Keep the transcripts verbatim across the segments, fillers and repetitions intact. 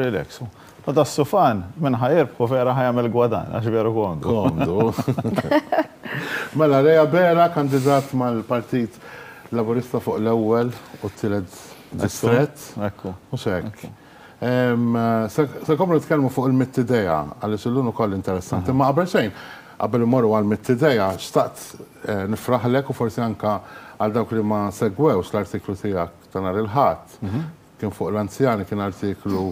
Relax. U das-sufan minn ħa jirbħu vera ħa jagħmel gwadann, għax veru komdu. Komdu. Mela, Ray Abela, kandidat mal-Partit Laburista fuq l-ewwel u t-tielet distrett. Ekku. Mhux hekk. Se nkomplu nitkellmu fuq il-mitt idea, għaliex illum ukoll interessanti. Ma qabel xejn, qabel immorru għal mitt idea, xtaqt eh, nifraħlek u forsi anka għal dawk li ma segwewx l-artiklu tiegħek ta' nhar il-Ħadd. Kien fuq l-anzjani, kien artiklu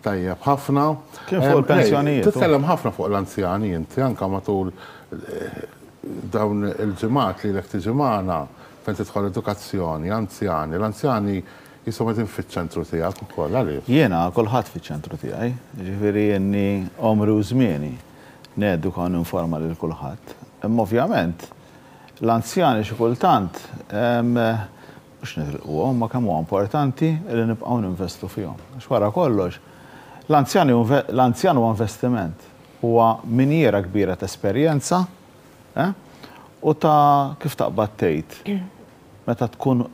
tajjeb ħafna. Kien fuq il-pensjonijiet. Titkellem ħafna fuq l-anzjani inti, anka matul eh, dawn il-ġimgħat li lek tiġi magħna fejn tidħol edukazzjoni, anzjani, l-anzjani jisom qegħdin fiċ-ċentru tiegħek ukoll, għaliex? Jiena kulħadd fiċ-ċentru tiegħi, ġifieri jenni għomri u żmieni neduka u ninforma lil kulħadd. Imma ovvjament l-anzjani xi kultant mhux nitilquhom, ma kemm huwa importanti li nibqgħu ninvestu fihom. Għax wara kollox, l-anzjani l-anzjan huwa investiment, huwa minjiera kbira ta' esperjenza eh, u ta' kif taqbad tgħid meta tkun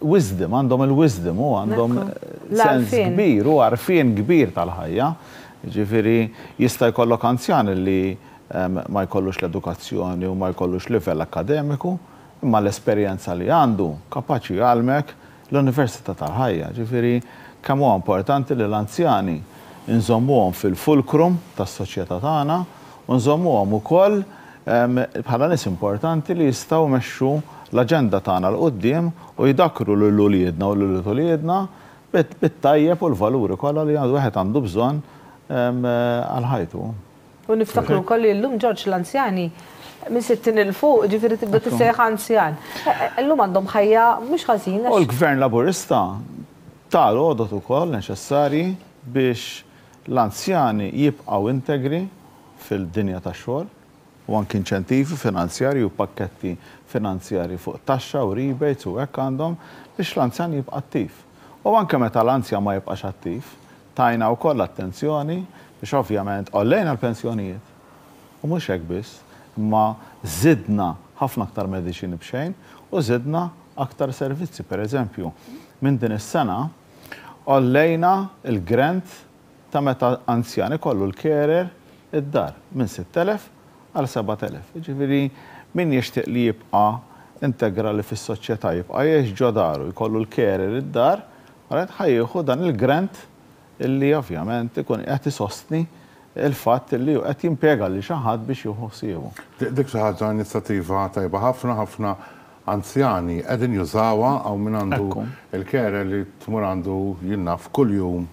wisdom, għandhom il-wisdom u għandhom sens L-għarfien. kbir u għarfien kbir tal-ħajja. Ġifieri jista' jkollok anzjan li em, ma jkollux l-edukazzjoni u ma jkollux livell akademiku, imma l-esperjenza li għandu kapaċi jgħallmek l-Università tal-ħajja. Ġifieri kemm huwa importanti li l-anzjani nżommuhom fil-fulcrum tas-soċjetà tagħna u nżommuhom ukoll em, bħala nies importanti li jistgħu jmexxu l-aġenda tagħna 'l quddiem u jdakru lil uliedna u lil uliedna bit-tajjeb u l-valuri kollha li għandu wieħed għandu bżonn em, għal ħajtu. U niftakru wkoll li llum, Ġorġ, l-anzjani minn sittin 'il fuq, ġifieri tibda tissejjaħ anzjan. Illum għandhom ħajja mhux ħażin. U l-Gvern Laburista ta l-għodot ukoll neċessarji biex l-anzjani jibqgħu integri fil-dinja tax-xogħol u anki inċentivi finanzjarji u pakketti finanzjarji fuq taxxa u rebates u hekk għandhom biex l-anzjan jibqa' attiv. U anke meta l-anzjan ma jibqax attiv, tajna wkoll attenzjoni biex ovvjament għollejna l-pensjonijiet. U mhux hekk biss, imma żidna ħafna aktar mediċini b'xejn u żidna aktar servizzi. Per eżempju, minn din is-sena għollejna il-grant ta' meta anzjan ikollu l-carer id-dar minn sitt elef għal sebat elef. Ġifieri min jixtieq li jibqa' integrali fis-soċjetà, jibqa' jgħix ġo daru, jkollu l-carer id-dar, għalet ħa jieħu dan il-grant illi ovvjament ikun qed isostni il-fatt li qed jimpjega li xi ħadd biex jieħu ħsiebu. Dik xi ħaġa, inizjattiva tajba ħafna, ħafna anzjani qegħdin jużawha, għaw min għandu Ekku. il-carer li tmur għandu jinnaf kuljum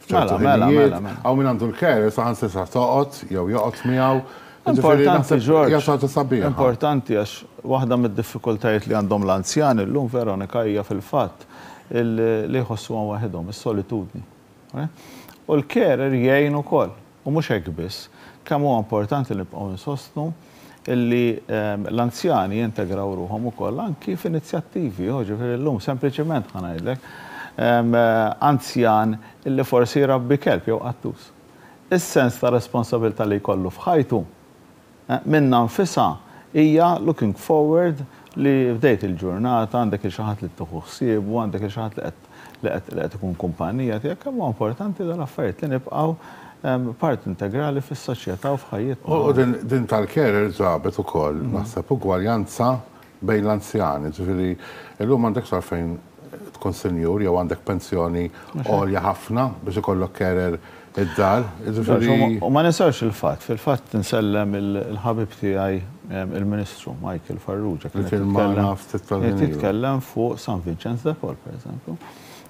f'ċertu Mela, mela, ħinijiet, mela, mela. Għaw min għandu l-carer saħansitra toqgħod jew joqgħod miegħu. Ġifieri Importanti, naħseb George. hija xi ħaġa sabiħa. Importanti għax waħda mid-diffikultajiet li għandhom l-anzjani llum, Veronika, hija fil-fatt il- li jħossuhom waħedhom, is-solitudni. Eh? U l-carer jgħin ukoll. U mhux hekk biss, kemm huwa importanti li nibqgħu nsostnu illi ehm, l-anzjani jintegraw ruħhom ukoll anki f'inizjattivi, oh, ġifieri llum sempliċement ħa ngħidlek, ehm, anzjan illi forsi jrabbi kelb jew qattus. Is-sens ta' responsabilità li jkollu f'ħajtu eh, minna nfisha hija looking forward li bdejt il-ġurnata, għandek il xi ħadd li tieħu ħsiebu, għandek il xi ħadd li qed li qed li qed ikun kumpanija tiegħek, kemm huwa importanti dal-affarijiet li nibqgħu em, part integrali fis-soċjetà u f'ħajjitna. U din, din tal-carer ġabet ukoll, naħseb, ugwaljanza bejn l-anzjani, ġifieri illum m'għandekx għalfejn tkun senjur jew għandek pensjoni għolja ħafna biex ikollok carer id-dar. Ġifieri U ma ninsawx il-fatt, fil-fatt nsellem il-ħabib tiegħi em, il-Ministru Michael Farrugia. Li kien magħna ftit tal-ħin ilu. Titkellem fuq San Vincenz de Paul, per eżempju.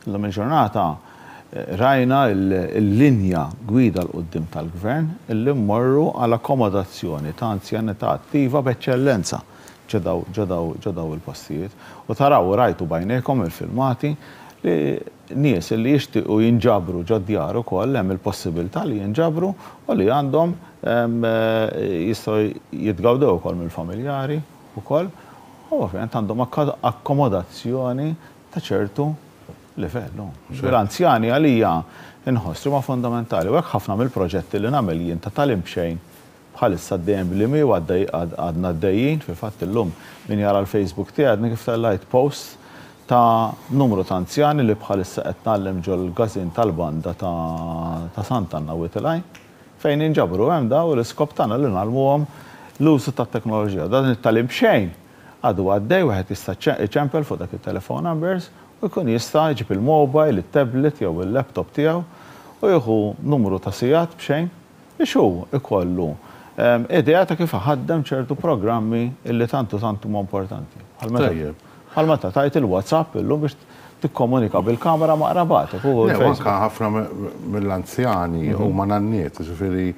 Illum il-ġurnata eh, rajna il-linja gwida 'l quddiem tal-gvern illi mmorru għal akkomodazzjoni ta' anzjanità attiva b'eċċellenza ġo daw ġo daw ġo daw il-postijiet. U taraw, rajtu b'għajnejkom il-filmati li nies li jixtiequ jinġabru ġo djar ukoll hemm il-possibilità li jinġabru u li għandhom em, eh, jistgħu jitgawdew ukoll mill-familjari ukoll u ovvjament għandhom akka- akkomodazzjoni ta' ċertu livellu. L-anzjani għalija inħoss li ma fundamentali u hekk ħafna mill-proġetti li nagħmel jien ta' tagħlim b'xejn bħalissa dejjem li mi għaddej għadna għaddejjin, fil-fatt illum min jara l-Facebook tiegħi għadni kif tellajt post ta' numru ta' anzjani li bħalissa qed ngħallem ġol-każin tal-banda ta' Sant'Anna Wied il-Għajn, fejn inġabru hemm daw l-iskop tagħna li ngħallmuhom l-użu tat-teknoloġija. Dan it-tagħlim b'xejn għadu għaddej, wieħed jista' iċempel fuq dak it-telephone numbers u jkun jista' jġib il-mobile, it-tablet jew il-laptop tiegħu u jieħu numru ta' sigħat b'xejn biex hu ikollu idea ta' kif ħaddem ċertu programmi illi tantu tantu huma importanti. Bħal meta tajt il-WhatsApp illum biex tikkomunika bil-kamera ma' qrabatek. Anka ħafna mill-anzjani huma nanniet, ġifieri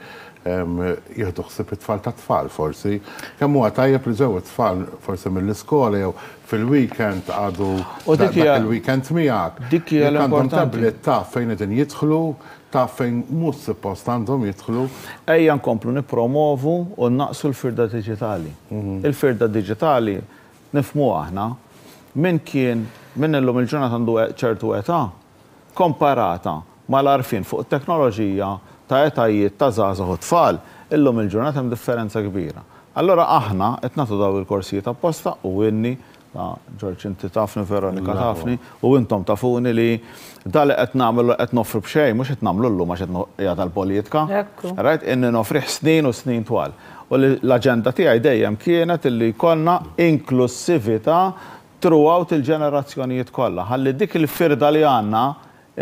jieħdu ħsieb it-tfal ta' tfal forsi. Kemm huwa tajjeb li ġew it-tfal forsi mill-iskola jew fil-weekend għadu dak il-weekend miegħek. Dik hija l-importanti. Tablet taf fejn qegħdin jidħlu, taf fejn mhux suppost għandhom jidħlu. Ejja nkomplu nippromovu u naqsu l-firda diġitali. Il-firda diġitali nifhmu aħna min kien min illum il-ġurnata għandu ċertu età komparata mal-għarfien fuq it-teknoloġija ta' etajiet ta' żgħażagħ u tfal, illum il-ġurnata hemm differenza kbira. Allora aħna qed nagħtu daw il-korsijiet apposta u inni, Ġorġ inti tafni, Veronika tafni, u intom tafuni li da li qed nagħmlu qed noffru b'xejn, mhux qed nagħmlu llum għax qed qiegħed għall-politika. Right, inni noffrih snin u snin twal. U l-aġenda tiegħi dejjem kienet illi jkollna inklusività throughout il-ġenerazzjonijiet kollha. Ħalli dik il-firda li għandna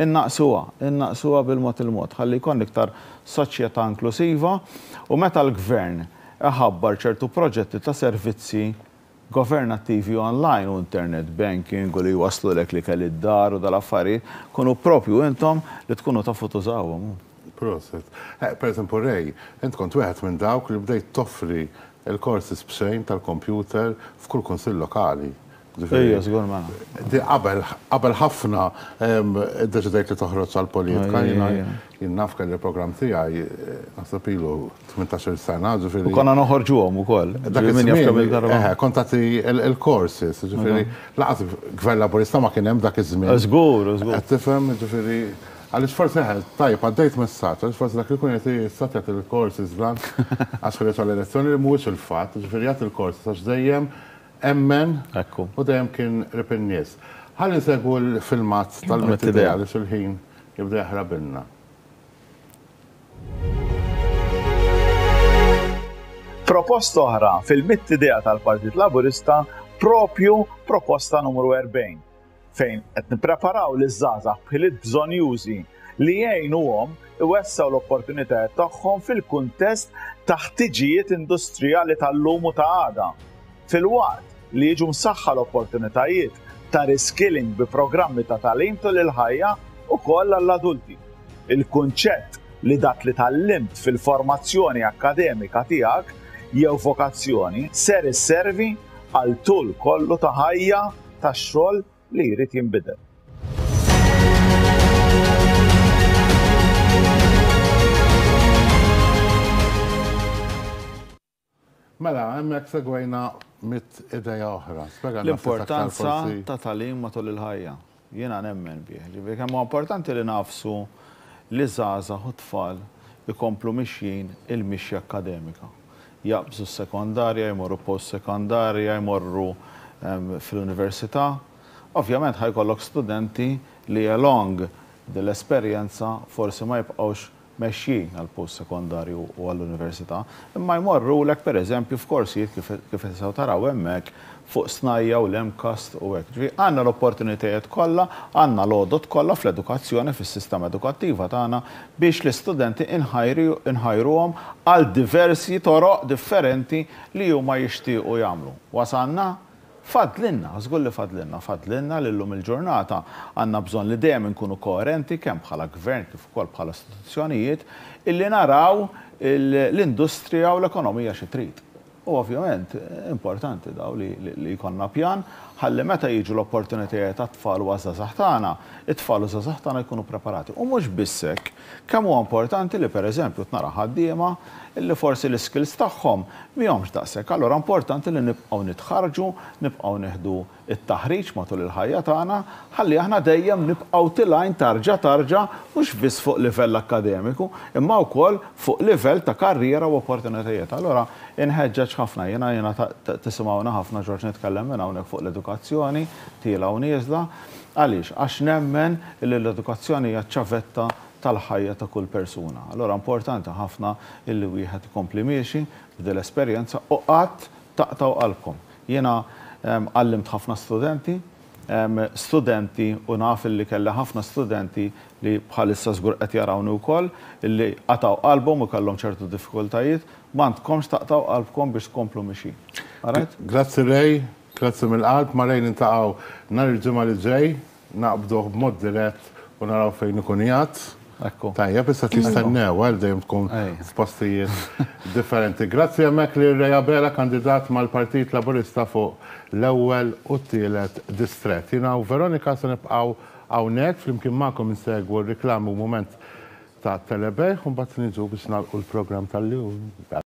innaqsuha, innaqsuha bil-mod il-mod, ħalli jkun iktar soċjetà inklusiva u meta l-gvern iħabbar ċertu proġetti ta' servizzi governattivi online u internet banking u li jwaslulek li kelli d-dar u dal-affarijiet, kunu propju intom li tkunu tafu tużawhom. Proset. Per eżempju, Ray, int kont wieħed minn dawk li bdejt toffri il-courses b'xejn tal-computer f'kull kunsill lokali. Ejja, żgur mela. Qabel qabel ħafna iddeċidejt li toħroġ għall-politika, jien naf kelli programm tiegħi naħseb ilu tmintax-il sena, ġifieri. U konna noħorġuhom ukoll. Dak iż-żmien. Kont tagħti il-courses, ġifieri laqas gvern Laburista ma kien hemm dak iż-żmien. Żgur, żgur. Qed tifhem, ġifieri għaliex forsi tajjeb għaddejt messaġġ, għaliex forsi dak li jkun qed jista' jagħti il-courses blan għax ħareġ għall-elezzjoni li mhuwiex il-fatt, ġifieri jagħti il-courses għax dejjem emmen u dejjem kien qrib in-nies. Ħalli nsegwu l-filmat tal-Mitt Idea għaliex il-ħin jibda jaħrabilna. Proposta oħra fil-Mitt Idea tal-Partit Laburista propju proposta numru erbgħin fejn qed nippreparaw liż-żgħażagħ b'ħiliet bżonjużi li jgħinuhom iwessgħu l-opportunitajiet tagħhom fil-kuntest ta' ħtiġijiet industrijali tal-lum u ta' għada. Fil-waqt li jiġu msaħħa l-opportunitajiet ta' reskilling bi programmi ta' tagħlim tul il-ħajja ukoll għall-adulti. Il-kunċett li dak li tgħallimt fil-formazzjoni akkademika tiegħek jew vokazzjoni ser isservi għal tul kollu ta' ħajja tax-xogħol li jrid jinbidel. Mela, hemmhekk segwejna mitt idea oħra. L-importanza ta' tagħlim matul il-ħajja. Jiena nemmen bih. Ġifieri kemm huwa importanti li nafsu li żgħażagħ u tfal ikomplu mixjin il-mixja akkademika. Jaqbżu s-sekondarja, jmorru post-sekondarja, jmorru fl-università. Ovvjament ħajkollok studenti li along dell-esperjenza forsi ma jibqgħux mexjin għal post-sekondarju u għall-università, imma jmorru lek per eżempju f'korsijiet kif tistgħu taraw hemmhekk fuq snajja u l-MCAST u hekk. Ġifieri għandna l-opportunitajiet kollha, għandna l-għodot kollha fl-edukazzjoni, fis-sistema edukattiva tagħna biex l-istudenti inħajruhom għal diversi toroq differenti li huma jixtiequ jagħmlu. Wasalna? Fadlinna, żgur li fadlinna, fadlinna li llum il-ġurnata għandna bżonn li dejjem inkunu koerenti kemm bħala gvern kif ukoll bħala istituzzjonijiet illi naraw l-industrija u l-ekonomija xi trid. U ovvjament importanti daw li jkollna pjan ħalli meta jiġu l-opportunitajiet għat-tfal u għaż-żgħażagħ tagħna, it-tfal u żgħażagħ tagħna jkunu preparati. U mhux biss hekk, Kemm huwa importanti li, pereżempju, tnara ħaddiema illi forsi l-skills tagħhom mihomx daqshekk. Allura importanti li nibqgħu nitħarġu, nibqgħu nieħdu it-taħriġ matul il-ħajja tagħna, ħalli aħna dejjem nibqgħu tilgħin tarġa tarġa, mhux biss fuq livell akkademiku, imma wkoll fuq livell ta' karriera u opportunitajiet. Allura inħeġġeġ ħafna, jiena jiena tisimgħuna ħafna, Ġorġ, nitkellem minn hawnhekk fuq l-edukazzjoni, tiela u nieżla. Għaliex? Għax nemmen li l-edukazzjoni hija ċavetta tal-ħajja ta' kull persuna. Allora importanti ħafna illi wieħed ikompli miexi b'dil l-esperjenza u qatt taqtgħu qalbkom. Jiena għallimt ħafna studenti, studenti u naf illi kelli ħafna studenti li bħalissa żgur qed jarawni wkoll illi qatgħu qalbhom u kellhom ċertu diffikultajiet, m'għandkomx taqtgħu qalbkom biex tkomplu mixi. Grazzi Ray, grazzi mill-qalb, ma' Ray niltaqgħu nhar il-Ġimgħa li ġej, naqbduh b'mod dirett u naraw fejn ikun qiegħed. Ekku. Tajjeb, issa tistennew, għal dejjem tkun f'postijiet differenti. Grazzi hemmhekk li Ray Abela, kandidat mal-Partit Laburista fuq l-ewwel u t-tielet distret. Jiena u Veronika se nibqgħu hawnhekk flimkien magħkom insegwu r-riklami u mument ta' telebejgħ u mbagħad niġu biex nagħlqu l-programm tal-lum.